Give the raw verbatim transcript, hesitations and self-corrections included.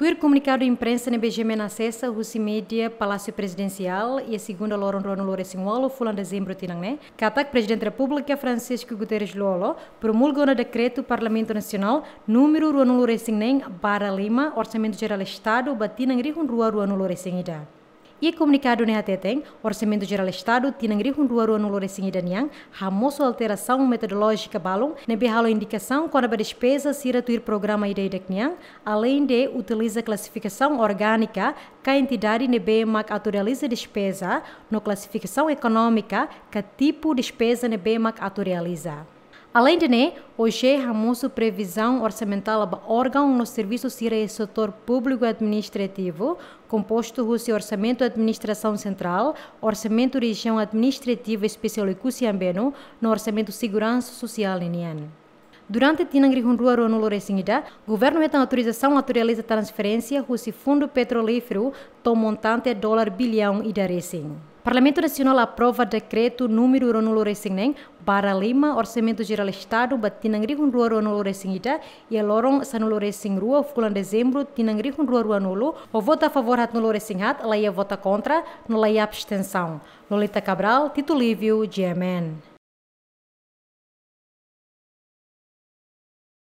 Tuir komunikadu imprensa ne'ebé GMN asesa husi mídia Palásiu Prezidensiál iha segunda loron ruanulu-resin-ualu fulan Dezembru tinan ne'e, katak Prezidente Repúblika Francisco Guterres Lú-Olo promulga ona dekretu Parlamentu Nasionál númeru ruanulu-resin-neen barra lima, Orsamentu Jerál Estadu ba tinan rihun rua ruanulu-resin-ida. Iha komunikadu ne'e hateten, Orsamentu Jerál Estadu tinan rihun rua ruanulu-resin-ida nian hamosu alterasaun metodolójika balun ne'ebé halo indikasaun kona-ba despeza sira tuir programa ida-idak nian, aleinde utiliza klasifikasaun orgánika ka entidade ne'ebé mak atu realiza despeza, no klasifikasaun ekonómika ka tipu despeza ne'ebé mak atu realiza. Aleinde ne'e, OGE hamosu previzaun orsamentál ba órgaun no servisu sira iha setór públiku administrativu, kompostu husi Orsamentu Administrasaun Sentrál, Orsamentu Rejiaun Administrativa Espesiál Oekusi Ambeno, no Orsamentu Seguransa Sosiál ninian. Durante tinan rihun rua ruanulu-resin-ida, Governu hetan autorizasaun atu realiza transferénsia husi Fundu Petrolíferu to'o montante dolar biliaun ida resin. Parlamentu Nasionál aprova dekretu númeru ruanulu-resin-neen barra lima, Orsamentu Jerál Estadu ba tinan rihun rua ruanulu-resin-ida iha loron sanulu-resin-rua fulan Dezembru tinan rihun rua ruanulu, ho vota a favór haatnulu-resin-haat, laiha vota kontra, no laiha abstensaun. Lolita Cabral, Tito Livio, GMN.